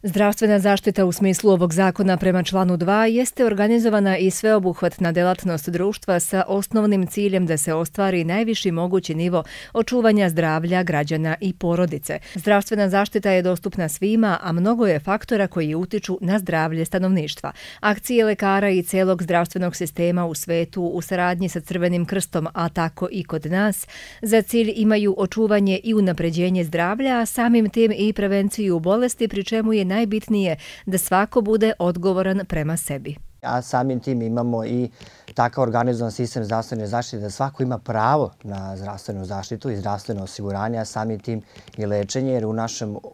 Zdravstvena zaštita u smislu ovog zakona prema članu 2 jeste organizovana i sveobuhvatna delatnost društva sa osnovnim ciljem da se ostvari najviši mogući nivo očuvanja zdravlja građana i porodice. Zdravstvena zaštita je dostupna svima, a mnogo je faktora koji utiču na zdravlje stanovništva. Akcije lekara i celog zdravstvenog sistema u svetu u saradnji sa Crvenim krstom, a tako i kod nas, za cilj imaju očuvanje i unapređenje zdravlja, a samim tim i prevenciju bolesti, pri čemu je najbitnije da svako bude odgovoran prema sebi. A samim tim imamo i takav organizovan sistem zdravstvene zaštite da svako ima pravo na zdravstvenu zaštitu i zdravstveno osiguranje, a samim tim i lečenje, jer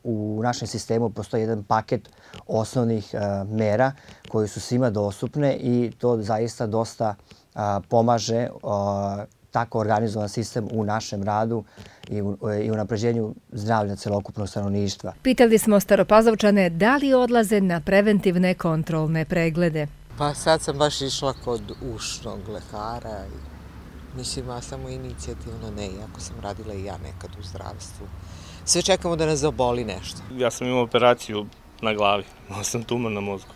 u našem sistemu postoji jedan paket osnovnih mera koji su svima dostupne i to zaista dosta pomaže tako organizovan sistem u našem radu i unapređenju zdravlja celokupnog stanovništva. Pitali smo Staropazovčane da li odlaze na preventivne kontrolne preglede. Pa sad sam baš išla kod ušnog lekara. Mislim, ja samo inicijativno ne, iako sam radila i ja nekad u zdravstvu. Sve čekamo da nas zaboli nešto. Ja sam imao operaciju na glavi, imao sam tumor na mozgu.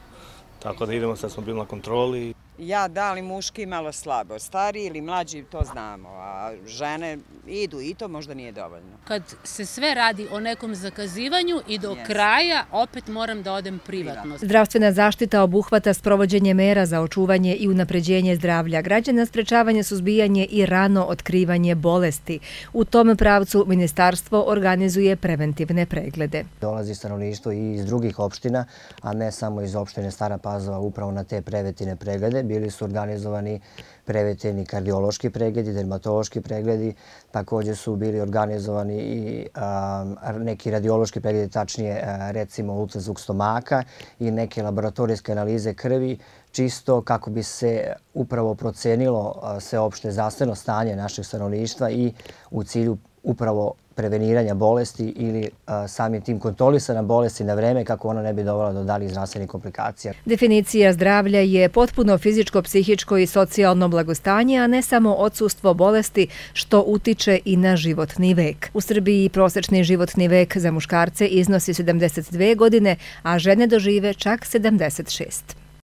Tako da idemo, sad smo bili na kontroli. Ja, da li muški malo slabo, stariji ili mlađi, to znamo, a žene idu i to možda nije dovoljno. Kad se sve radi o nekom zakazivanju i do kraja, opet moram da odem privatno. Zdravstvena zaštita obuhvata sprovođenje mera za očuvanje i unapređenje zdravlja građana, sprečavanje, suzbijanje i rano otkrivanje bolesti. U tom pravcu ministarstvo organizuje preventivne preglede. Dolazi stanovništvo i iz drugih opština, a ne samo iz opštine Stara Pazova upravo na te preventivne preglede. Bili su organizovani preventivni kardiološki pregledi, dermatološki pregledi, također su bili organizovani i neki radiološki pregledi, tačnije recimo ultrazvuk stomaka i neke laboratorijske analize krvi, čisto kako bi se upravo procenilo sveopšte zdravstveno stanje našeg stanovništva i u cilju upravo preveniranja bolesti ili samim tim kontrolisanja bolesti na vreme kako ona ne bi dovela do daljih zdravstvenih komplikacija. Definicija zdravlja je potpuno fizičko, psihičko i socijalno blagostanje, a ne samo odsustvo bolesti što utiče i na životni vek. U Srbiji prosečni životni vek za muškarce iznosi 72 godine, a žene dožive čak 76.